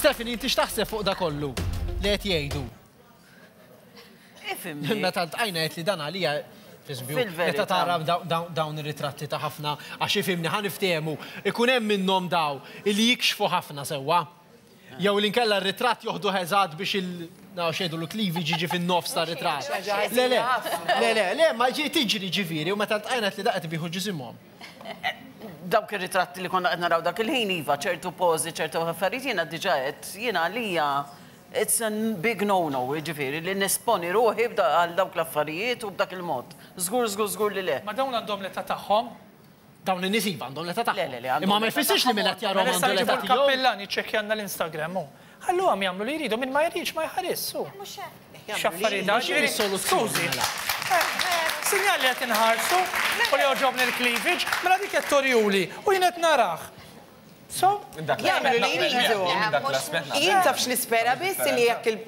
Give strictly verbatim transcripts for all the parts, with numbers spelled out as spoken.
Stephanie, inti x'taħseb fuq da kollu li qed jgħidu? Ifhimni. Meta ltqajna għedt li dan għalija, f'eżempju, Fil-verità. meta tara daw- daw- dawn ir-ritratti ta' ħafna, għax ifhimni, ħa niftehmu, ikun hemm minnhom daw illi jikxfu ħafna sewwa. Jew li nkella r-ritratt joħdu eżatt biex il naw xejdu l-cleavage jiġi fin-nofs ta' ritratt. Le, le, le, le, le, ma ġi tiġri ġifieri u meta ltqajna li daqet biħu ġisimhom. Dawk ir-ritratti li konna qed naraw dak il-ħin iva, ċertu pożi, ċertu affarijiet, jiena diġà qed jiena għalija it's a big no-no, ġifieri, li nesponi ruħi b'da- għal dawk l-affarijiet u b'dak il-mod. Żgur, żgur, żgur li le. Ma dawn għandhom l-età tagħhom. Dawn in-nies iva għandhom l-età Le, tagħhom. le, le, għandhom Imma ma l-età jfissirx li min qed jarahom Mela issa għandu l-età nġibu tiegħu. l-kappellan jiċċekkjanna l-Instagram. hu. Ħalluhom jagħmlu li jridu, min ma jridx ma jħares. hu. X'affarijiet dawn, X'inhi ġifieri, s-soluzzjoni, skużi. mela? Eh, Sinjal li qed inħarsu u li jogħġobni l-cleavage, mela dik qed torjuli u jien qed narah. So, Jagħmlu li jridu. Jien taf x'nispera biss li jekk il-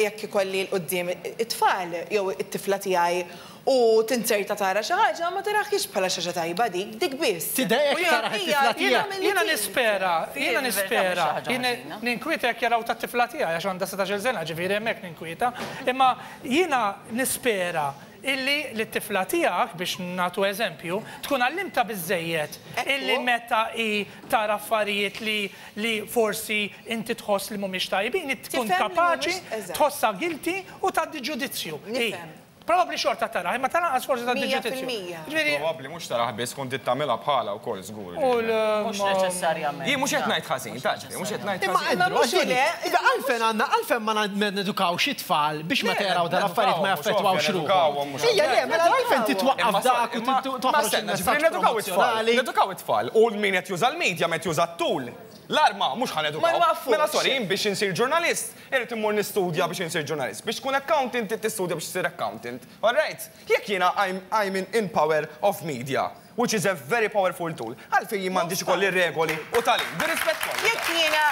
jekk ikolli 'l quddiem it-tfal jew it-tifla tiegħi u tinserta tara xi ħaġa, ma taraħiex bħala xi ħaġa tajba dik, dik biss. Tidejjek U jiena- taraħ it-tifla hija- tiegħek. Jiena nispera, jiena Fil-verità nispera, mhux xi ħaġa jiena ħażina. ninkwieta jekk jaraw tat-tifla tiegħi għax għandha sittax-il sena, ġifieri hemmhekk ninkwieta, imma jiena nispera illi l-tifla tiegħek, biex nagħtu eżempju, tkun għallimta biżejjed Ekku. illi meta i tara affarijiet li li forsi inti tħoss li mhumiex tajbin, tkun Tifhem li kapaċi mhumiex- eżatt. tħossha guilty u tgħaddi ġudizzju. Nifhem. Probabbli xorta tara, imma tal-anqas forsi tgħaddi Mija ġudizzju. fil-mija. Ġifieri, Probabbli mhux tarah biss, kont tagħmilha bħala wkoll żgur. u l- Mhux neċessarjament. Jien mhux qed ngħid ħażin, ta' ġifieri, mhux qed ngħid Imma ħażin. Andrew, mhux għax le, Iva għalfejn għandna, għalfejn ma na- nedukawx it-tfal biex ma taraw dan affarijiet ma jaffettwawx ruħhom. Ija le, mela għalfejn titwaqqaf dak u Imma toħroġ stenna, ġifieri il-messaġġ nedukaw it-tfal. promozzjonali. Nedukaw it-tfal. U min qed juża l-medja qed juża t-tool. L-arma mhux ħa nedukaw. Ma nwaqqfux. Mela sorry, jien biex insir ġurnalist, irrid immur nistudja biex insir ġurnalist. Biex tkun accountant, trid tistudja biex tsir accountant. All right? Jekk jiena I'm, I'm in, in power of media, which is a very powerful tool, għalfejn jien m'għandix ikolli regoli u tagħlim. Bir-rispett kollu. Jekk jiena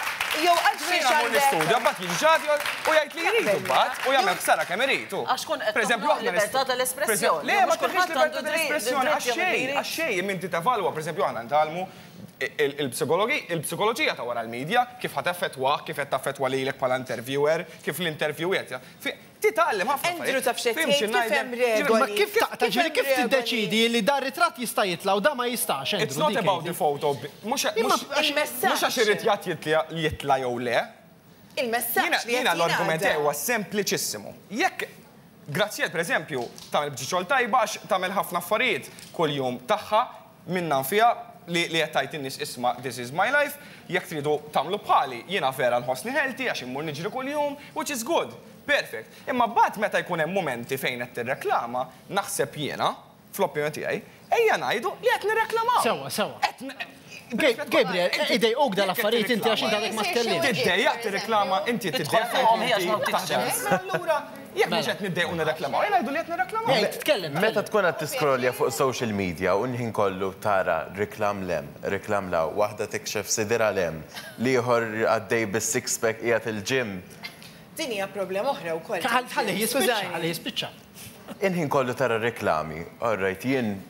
jew għalfejn Jiena mmur nistudja, mbagħad jiġi ġadi u jgħid li jridu mbagħad u jagħmel ħsara kemm irid. Għax kun qed Per eżempju, toħloq aħna libertà nistu- tal-espressjoni. Per Le, ma Mhux toħloqx kulħadd libertà għandu dritt- tal-espressjoni dritt għax jagħmel li xejn, jrid. għax xejn inti tevalwa, per eżempju, aħna nitgħallmu il-psikologi, il-psikoloġija ta' wara l-medja, kif ħa teffettwa, kif qed taffettwa lilek bħala interviewer, kif l-interview qed. Titgħallem ħafna. Andrew, taf x'qed Fhimt tgħid, kif x'ngħidlek? hemm regoli. Ma kif taqta' ġifieri kif hemm regoli? tiddeċidi li da ritratt jista' jitla' u da ma jistax, Andrew? It's not dik about għidi. the photo. Mhux Imma mhux- Il-messaġġ. mhux għax ir-ritratt jitla jitla jew le. Il-messaġġ Jiena li jiena qed l-argument jingħadda. huwa sempliċissimu. Jekk Graziel, per eżempju, tagħmel biċċa xogħol tajba għax tagħmel ħafna affarijiet kuljum tagħha minna fiha li li qed tgħid in-nies, "Isma', this is my life, jekk tridu tagħmlu bħali, jiena vera nħossni healthy għax immur niġri kuljum," which is good. Perfect. Imma mbagħad meta jkun hemm momenti fejn qed tirreklama, naħseb jiena, fl-opinjoni tiegħi, ejja ngħidu li qed nirreklamaw. Sewwa, sewwa. Qed n- Gabriel, idejquk dal-affarijiet inti għax inti għadek ma tkellimt. Tiddejjaq tirreklama, inti tiddejjaq fuqhom hija x'ma taħdem. Mela allura, jekk mhux qed niddejqu nirreklamaw, ejja ngħidu li qed nirreklamaw. Ej, titkellem. Meta tkun qed tiskrolja fuq social media u l-ħin kollu tara reklam 'l hemm, reklam 'l hawn, waħda tikxef sidirha 'l hemm, l-ieħor għaddej bis-six pack qiegħed il-gym. Din hija problema oħra wkoll. Ħalli jispiċċa, Skużani. ħalli jispiċċa. Il-ħin kollu tara reklami, all right, jien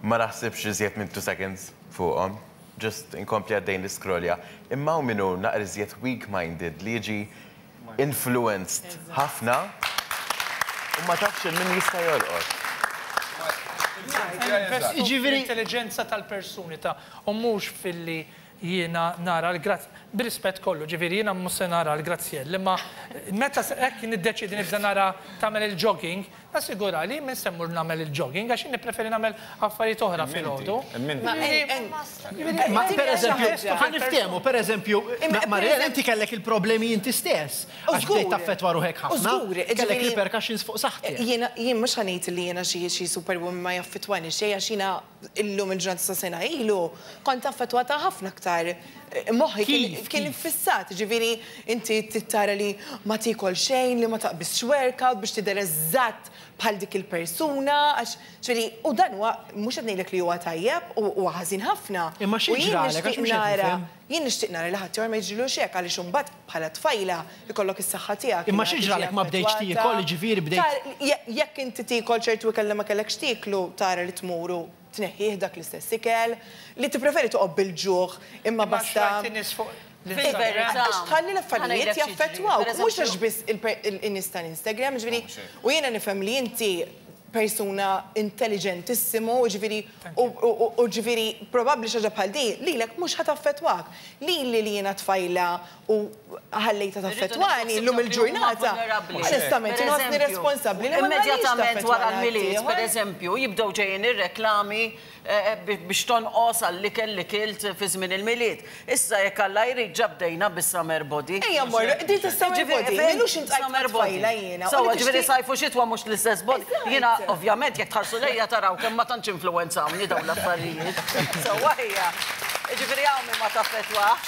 ma naħsibx iżjed minn two seconds fuqhom, just inkompli għaddejn l-iskrolja. Imma u minnu naqra iżjed weak-minded li jiġi influenced ħafna u ma tafx min jista' jolqot. Jiġifieri- Intelligenza tal-persuni ta' u mhux filli jiena nara l-grazz bir-rispett kollu, ġifieri jiena mhux se nara l-Graziell, imma meta se- hekk niddeċidi nibda nara tagħmel il-jogging, nassigura li minn se mmur nagħmel il-jogging għax jien nippreferi nagħmel affarijiet oħra filgħodu. Ma en- en- Ma per eżempju, ħaġa. ħa niftehmu, per eżempju, Imma per Marielle, eżempju- inti kellek il-problemi inti stess. U Għax bdejt żgur. taffettwa ruħek U ħafna. żgur, Kellek ġifieri- repercussions fuq saħħtek. Jiena jien mhux ħa ngħid li jiena xi xi superwoman ma jaffettwani xejn għax jiena illum il-ġurnata sa sena ilu kont affettwata ħafna aktar. Moħħi kien Kif, kien kif? iffissat, ġifieri inti tittara li ma tiekol xejn, li ma taqbiżx workout biex tidher eżatt bħal dik il-persuna, għax ġifieri u dan huwa mhux qed ngħidlek li huwa tajjeb u huwa ħażin ħafna. Imma xi U jien ġralek, għax nixtieq mhux qed nara- nifhem. Jien nixtieq nara li ħadd ma jiġrilux hekk għaliex imbagħad bħala tfajla ikollok is-saħħa tiegħek. Imma li xi tiġi ġralek ma bdejtx affettwata. tiekol, ġifieri bdejt- Tar- je- Jekk inti tiekol ċertu ikel li ma kellekx tieklu, tara li tmuru tneħħih dak l-istess ikel, li tippreferi toqgħod bil-ġuħ imma Ma basta. xrajt in-nies fuq Fil-verità. Għax tħalli l-affarijiet jaffettwawk, mhux għax biss il-nies tal-Instagram, ġifieri, u jiena nifhem li inti persuna intelligentissimo, ġifieri, u ġifieri probabbli xi ħaġa bħal din, lilek mhux ħa taffettwak. Lili li jiena tfajla u ħallejta taffettwani llum il-ġurnata. Onestament, inħossni responsabbli li ma Immedjatament wara l-Milied, per eżempju, jibdew ġejjin ir-reklami biex tonqos għall-ikel li kilt fi żmien il-Milied. Issa jekk Alla jrid ġa bdejna bis-summer body. Ejja mmorru, din tas-summer body, m'ilux intqajt ma' tfajla jiena. Sewwa, ġifieri sajf u xitwa mhux l-istess body. Jiena ovvjament jekk tħarsu lejja taraw kemm ma tantx influwenzawni dawn l-affarijiet. Sewwa hija. Ġifieri hawn min ma taffettwax.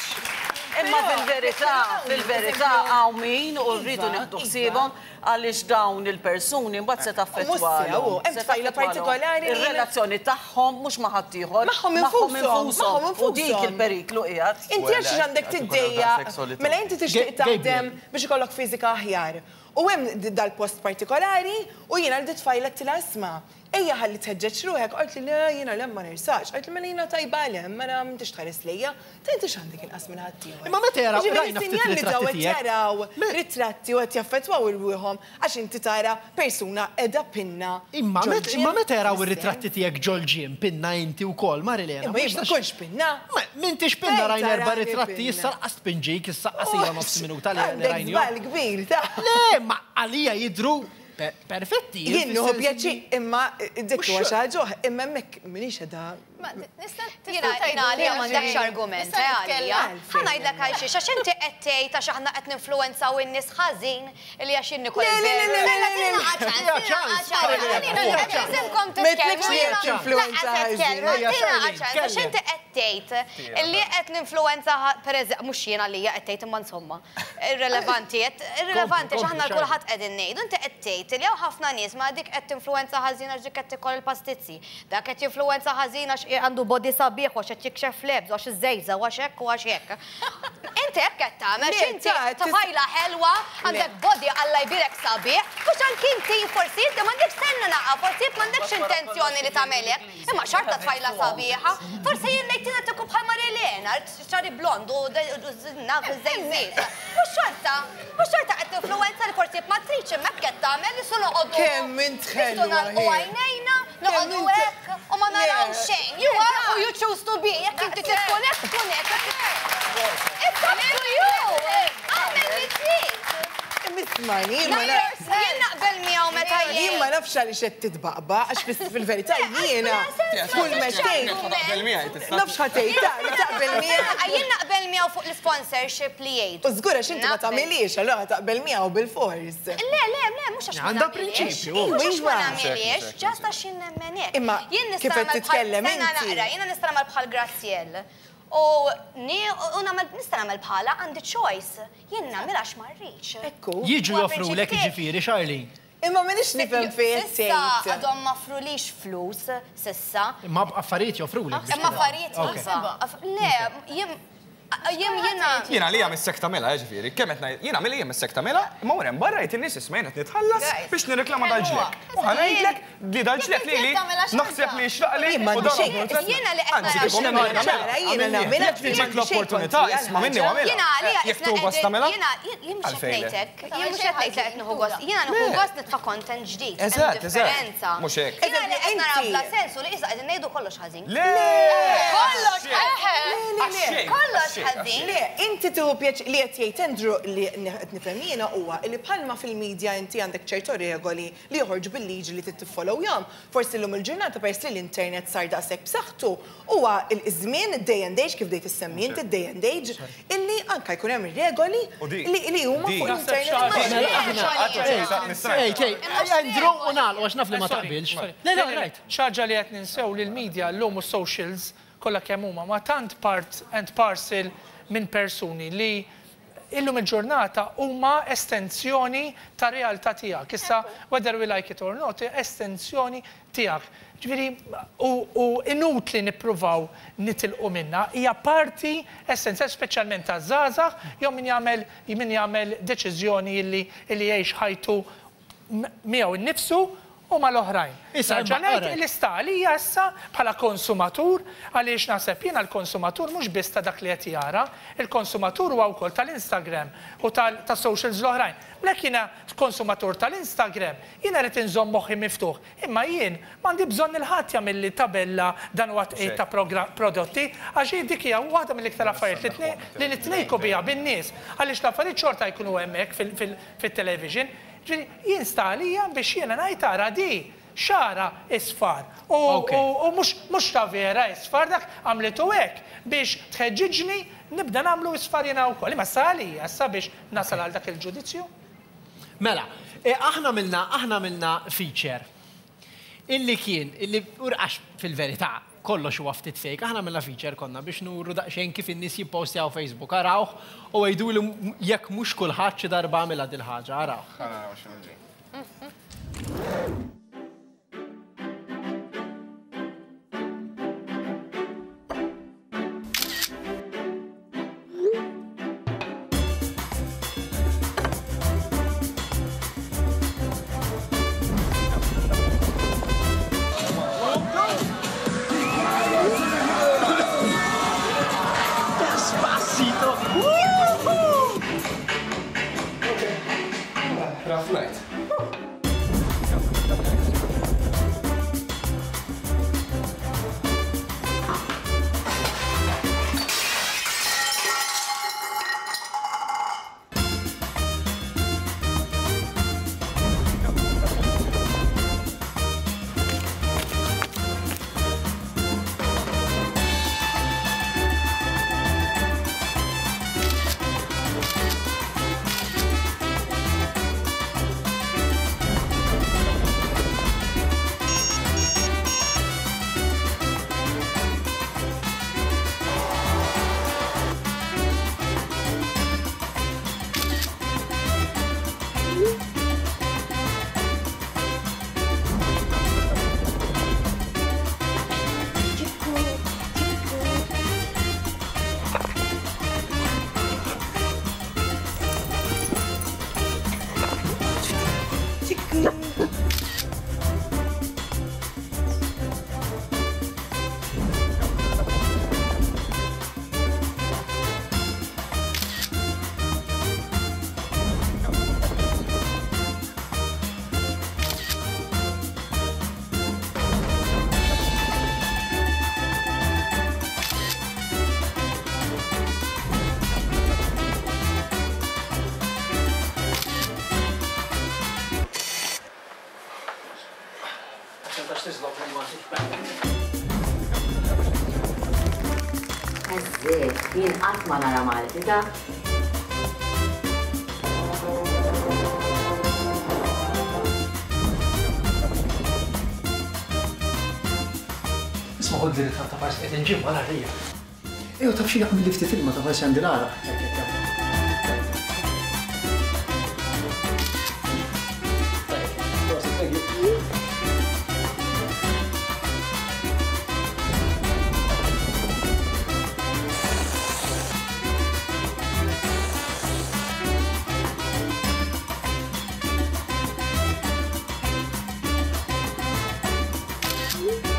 Imma fil-verità, fil-verità hawn min u rridu nieħdu ħsiebhom għaliex dawn il-persuni mbagħad se taffettwalhom. Hemm tfajla partikolari. Ir-relazzjoni tagħhom mhux ma' ħaddieħor. Magħhom infushom. U dik il-periklu qiegħed. Inti għax għandek tiddejja, mela inti tixtieq taħdem biex ikollok fiżika aħjar. U hemm dal-post partikolari u jiena li tfajla tilha isma'. Ejja ħalli tħeġġeġ ruħek, qalt li le jiena lem ma nirsax, qalt li mela jiena tajba lem, mela m'intix tħares lejja, ta' inti x'għandek inqas minn ħaddieħor. Imma meta jaraw rajna ftit ritratti tiegħek. Jaraw ritratti u qed jaffettwaw irwieħhom għax inti tara persuna qiegħda pinna. Imma meta jaraw ir-ritratti tiegħek ġol-gym pinna inti wkoll, Marilena. Imma jien ma kontx pinna. M'intix pinna rajna erba' ritratti issa laqas tpinġik, issa qasija nofs minuta li rajnihom. Żball kbir ta' Le, ma għalija jidhru perfetti. Jien nieħu pjaċir imma dik huwa xi ħaġa oħra, imma hemmhekk m'iniex qiegħda. Jiena għalija m'għandekx argument, għalija. Ħa ngħidlek għal xiex, għax inti qed tgħid għax aħna qed ninfluwenzaw in-nies ħażin li għax jien nikol. Le, le, le, le, le, għax inti qed tgħid li qed ninfluwenza pereżempju mhux jien għalija qed tgħid imma insomma. Irrelevanti, irrelevanti għax aħna kulħadd qegħdin ngħidu, inti qed tgħid li hawn ħafna nies ma dik qed tinfluwenza ħażin għax dik qed tikol il-pastizzi. Dak qed jinfluwenza ħażin għax għandu body sabiħ u għax qed jikxef lebs u għax iż-żejża u għax hekk u għax hekk. Inti hekk qed tagħmel, inti tfajla ħelwa, għandek body Alla jbirek sabiħ, mhux anki inti forsi inti m'għandekx senna naqa, forsi m'għandekx intenzjoni li tagħmel hekk, imma xorta tfajla sabiħa, forsi jien ngħid tina tkun bħal Marilena, xari blond u naf iż-żejżiet. Mhux xorta, mhux xorta qed tinfluwenza li forsi ma tridx imma hekk qed tagħmel li su noqogħdu. Kemm int ħelwa. U għajnejna noqogħdu hekk u ma naraw xejn. You are who you choose to be. Jekk inti tkun hekk, tkun hekk. It's up to you. Agħmel li trid. Ismani, jien naqbel miegħu meta jien. Jien ma nafx għaliex qed titbaqba, għax fil-verità jiena kull meta tgħid. Nafx ħa tgħid taqbel miegħu. Jien naqbel miegħu fuq l-sponsorship li jgħidu. U żgur għax inti ma tagħmilix, allura taqbel miegħu bil-fors. Le, le, le, mhux għax. Għandha prinċipju. Mhux għax ma nagħmilix, ġast għax jien nemmen hekk. Imma kif qed titkellem inti. Jiena nista' nagħmel bħal Graziell. U nista' nagħmel bħala għandi choice. Jien nagħmel għax ma rridx. Ekku. Jiġu joffrulek jiġifieri, Charlene. Imma m'iniex nifhem fejn qed S'issa għadhom ma offrulix flus, s'issa. Imma affarijiet joffrulek. Imma affarijiet iva. Le, jien jien jiena. Jiena għalija missek tagħmilha, jiġifieri, kemm qed ngħid, jiena għalija missek tagħmilha, imma wara barra jgħid in-nies isma' jien qed nitħallas biex nirreklama dal-ġlek. U ħa ngħidlek li dal-ġlek lili naħseb li jixraqli u dan Jiena li qed nagħmel. Jiena nagħmilha. Jekk tiġik l-opportunità isma' minni u għamilha. Jiena għalija Jekk tieħu gost tagħmilha. Jiena jien mhux qed ngħidlek, jien mhux qed ngħid li qed nieħu gost, jiena nieħu gost nitfa' content ġdid. Eżatt, eżatt. Mhux hekk. Jiena li qed nara bla sensu li issa qegħdin ngħidu kollox ħażin. Le! Kollox ħażin! Kollox ħażin! Le, inti tieħu pjaċir li qed jgħid Andrew li qed nifhem jiena huwa li bħalma fil-medja inti għandek ċertu regoli li joħorġu bil-liġi li trid tiffollowjahom. Forsi llum il-ġurnata peress li l-internet sar daqshekk b'saħħtu huwa l-żmien day and age kif bdejt issemmi inti day and age illi anke jkun hemm regoli li huma fuq l-internet. Ej, ej, Andrew u nagħlqu għax naf li ma taqbilx. Le, le, right. Xi ħaġa li qed ninsew li l-media llum u socials kollha kemm huma ma tant part and parcel minn persuni li illum il-ġurnata huma estensjoni ta' realtà tiegħek. Issa, whether we like it or not, estensjoni tiegħek. Ġifieri, u inutli nippruvaw nitilqu minna, hija parti essenzjali speċjalment ta' żgħażagħ jew min jagħmel min jagħmel deċiżjoni illi illi jgħix ħajtu miegħu innifsu u mal-oħrajn. Issa, Nerġa' imma, ngħid alright. li sta għalija issa bħala konsumatur, għaliex naħseb jiena l-konsumatur mhux biss ta' dak li qed jara, il-konsumatur huwa wkoll tal-Instagram u tal- tas-socials l-oħrajn. Lek jiena konsumatur tal-Instagram, jiena rrid inżomm moħħi miftuħ, imma jien m'għandi bżonn il-ħadd jagħmilli tabella dan huwa tqegħid ta' progra- prodotti, għax hi dik hija waħda mill-iktar affarijiet li tne- li nitnejku biha bin-nies, għaliex l-affarijiet xorta jkunu hemmhekk fil- fil- fit-television. Ġifieri, jien sta għalija biex jiena ngħid ara di xara isfar. U Ok. u- u mhux mhux ta' vera isfar dak għamlitu hekk biex tħeġġiġni nibda nagħmlu isfar jiena wkoll. Imma sta għalija issa biex nasal għal dak il-ġudizzju. Mela, eh, aħna milna, aħna milna feature illi kien, illi urqax fil-verità, kollox huwa ftit fake, aħna milna feature konna biex nuru daqsxejn kif in-nies jippostjaw Facebook, arawh u għidu li jekk mhux kulħadd xi darba għamilha dil-ħaġa, arawh. Ħa naraw x'inhu ġej. Despacito! Rough night. Eżżiet, jien qatt ma nara Malti ta' Isma' ħod verità ta' farsi qed inġib wara rija. Ejju taf xi jaqmel li ftit ilma ta' farsi għandi l-għaraq. Thank you.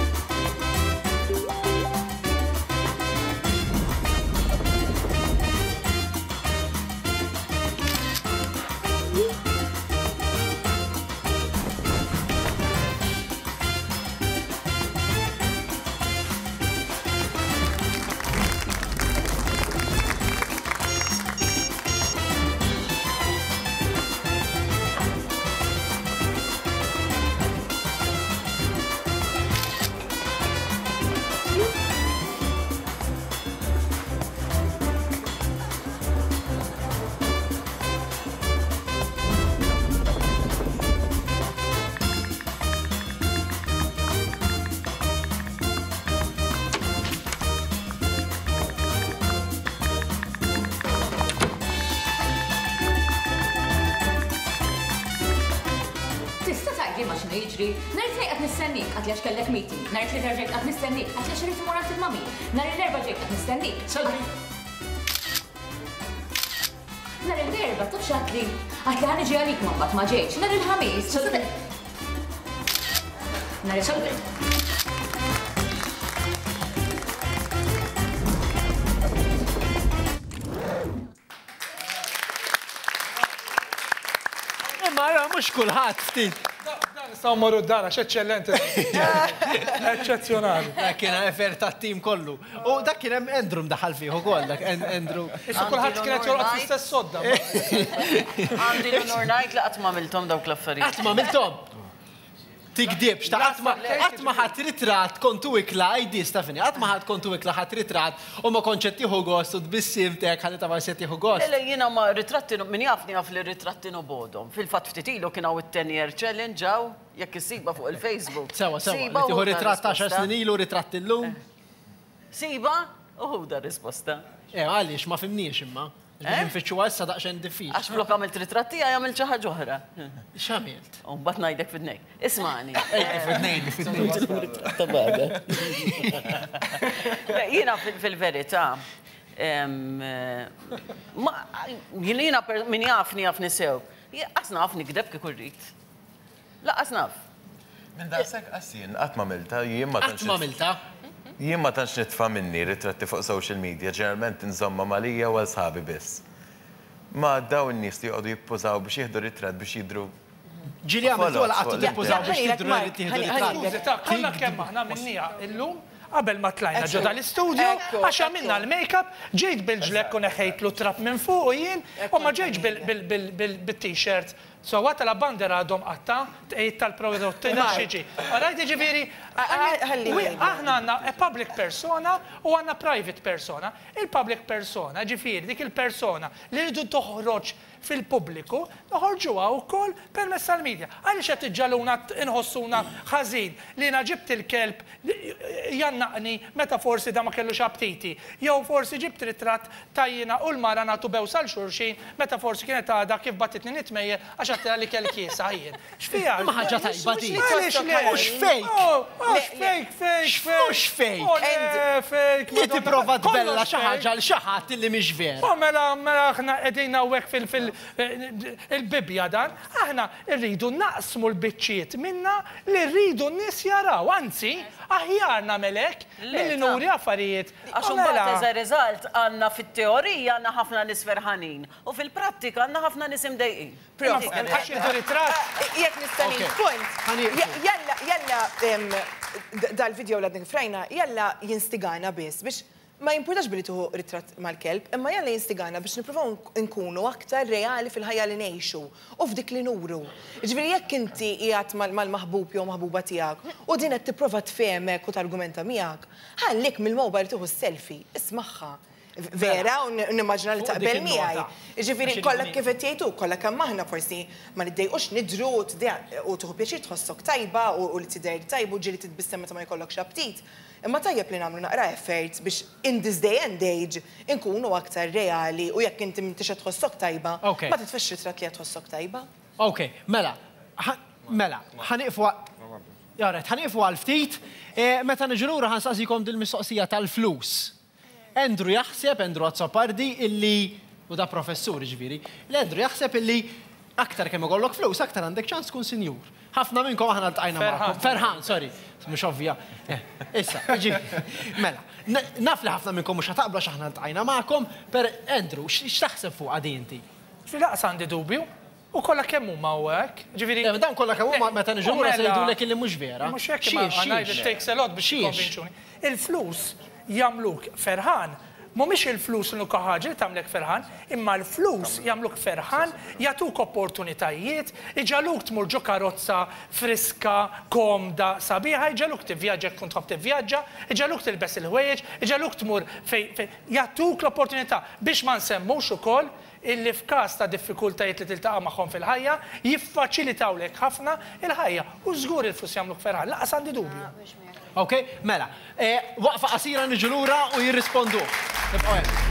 Tista' tgħidli ma x'inhu jiġri. Nhar it-Tnejn qed nistennik għad għax kellek meeting. Nhar it-Tlieta ġejt qed nistennik għad għax irid imur għand il-mami. Nhar l-Erbgħa ġejt qed nistennik. Selfie. Nhar l-Erbgħa taf x'għadli? Għad li ħa niġi għalik ma mbagħad ma ġejtx. Nhar il-Ħamis. Selfie. Nhar il-Ħadd. Imma mhux kulħadd ftit. Nistgħu mmorru d-dar għax eċċellenti. Eċċezzjonali. Dak kien effert tat-tim kollu. U dak kien hemm Andrew mdaħħal fih ukoll, dak Andrew. Issa kulħadd kien qed jorqod fl-istess sodda. Għandi l-onur ngħid li qatt ma għamilthom dawk l-affarijiet. Qatt ma għamilthom? Tikdibx, ta' qatt ma ħadd ritratt kontu ikla, għajdi Stefani, qatt ma ħadd kontu ikla ħadd ritratt u ma kontx qed tieħu gost u tbissimtek ħalli ta' forsi qed tieħu gost. Le, le, jiena ma ritratti, min jafni jaf li ritratti nobodhom. Fil-fatt ftit ilu kien hawn it-ten year challenge hawn, jekk issiba fuq il-Facebook. Sewa, sewa, li tieħu ritratt għaxar snin ilu, ritratt illum. Siba, u ħuda risposta. Eh, għaliex ma fimniex imma. Nfittxu issa daqsxejn diffiċli. Għax flok għamilt ritratti tiegħi għamilt xi ħaġa oħra. X'għamilt? U mbagħad ngħidlek fidnejk. Ismani. Fidnejk, fidnejk. Jiena fil-verità, jiena min jafni jafni sew. Qas naf nikdeb kieku rrid. Laqas naf. Minn daqshekk qas jien qatt m'għamiltha, jien ma tantx. Qatt m'għamiltha? Jien ma tantx nitfa' minni ritratti fuq social media, ġeneralment inżomma malija u għal sħabi biss. Ma dawn in-nies li joqogħdu jippużaw biex jieħdu ritratt biex jidhru. Ġieli għamiltu għal qatt tippużaw biex jidhru jieħdu ritratt. Skużi, ta' kollha kemm aħna minnija illum qabel ma tlajna ġo dal-istudio għax għamilna l-make-up, ġejt bil-ġlekk u neħejtlu trap minn fuq u jien u ma ġejtx bil-t-shirt. So għata la bandera għadhom qatta, tqejt tal-prodotti xiġi. Rajt ġifieri, aħna għandna a public persona u għandna private persona. Il-public persona, ġifieri, dik il-persona li rridu toħroġ fil-pubbliku, noħorġuha wkoll permezz tal-medja. Għaliex qed iġġaluna inħossuna ħażin li jiena ġibt il-kelb jannaqni meta forsi da ma kellux aptiti. Jew forsi ġibt ritratt ta' jiena u l-mara nagħtu bews għal xulxin meta forsi kienet għadha kif batitni nitmejjel għax għattela li kell kiesa jien. X'fiha? Ma ħaġa tajba di. Mhux fake. Mhux fake, fake, Mhux fake. Fake. Li tipprova tbella xi ħaġa għal xi ħadd li mhix vera. U mela mela aħna qegħdin hawnhekk fil il-Bibbja dan, aħna rridu naqsmu l-biċċiet minna li rridu n-nies jaraw. Anzi, aħjar nagħmel hekk milli nuri affarijiet. Għax imbagħad as a result għandna fit-teorija għandna ħafna nies ferħanin u fil-prattika għandna ħafna nies imdejqin. Għax jieħdu ritratt. Jekk nista' ngħid punt. Jalla, jalla dal-video l għadni frajna, jalla jinstigana biss biex ma jimpurtax billi tuħu ritratt mal-kelb, imma jalla jinstigana biex nippruvaw nkunu aktar reali fil-ħajja li ngħixu u f'dik li nuru. Ġifieri jekk inti qiegħed mal-maħbub jew maħbuba tiegħek u din qed tipprova tfehmek u targumenta miegħek, ħallik mill-mobile tieħu selfie, ismagħha. Vera, u nimmaġina li taqbel miegħi. Ġifieri kollha kif qed jgħidu, kollha kemm aħna forsi ma niddejqux nidru u tieħu pjaċir tħossok tajba u li tidher tajba u ġieli titbissem meta ma jkollokx aptit. Imma tajjeb li nagħmlu naqra effort biex in this day and age inkunu aktar reali u jekk inti m'intix qed tħossok tajba, ma titfix ritratt li qed tħossok tajba. Ok, mela, mela, ħa nieqfu Jaret, ħa nieqfu għal ftit, meta niġu lura ħa nsaqsikom dil-mistoqsija tal-flus. Andrew jaħseb, Andrew Azzopardi, illi, u da professur ġifieri, l-Andrew jaħseb illi aktar kemm ikollok flus, aktar għandek ċans tkun sinjur. Ħafna minnkom aħna ltqajna magħkom. Ferħan, sorry, mhux ovvja. Issa, mela, naf li ħafna minnkom mhux ħataqblu għax aħna ltqajna magħkom, per Andrew, x'taħseb fuq għadi inti? Laqas għandi dubju. U kollha kemm huma hekk. Ġifieri. Dan kollha kemm huma meta niġu lura se jgħidulek illi mhux vera. Mhux hekk imma it takes a lot biex jikkonvinċuni. Il-flus jagħmluk ferħan. Mhumiex il-flus l-unika ħaġa li tagħmlek ferħan, imma l-flus jagħmluk ferħan, jagħtuk opportunitajiet, iġaluk tmur ġo karozza friska, komda, sabiħa, iġaluk tivvjaġġa jekk tkun tħobb tivvjaġġa, iġaluk tilbes il-ħwejjeġ, iġaluk tmur fejn jagħtuk l-opportunità biex ma nsemmux ukoll illi f'każ ta' diffikultajiet li tiltaqa' magħhom fil-ħajja, jiffaċilitawlek ħafna il-ħajja. U żgur il-flus jagħmluk ferħan, laqas għandi dubju. Ok, mela, waqfa qasira niġu lura u jirrispondu. Nibqgħu hemm.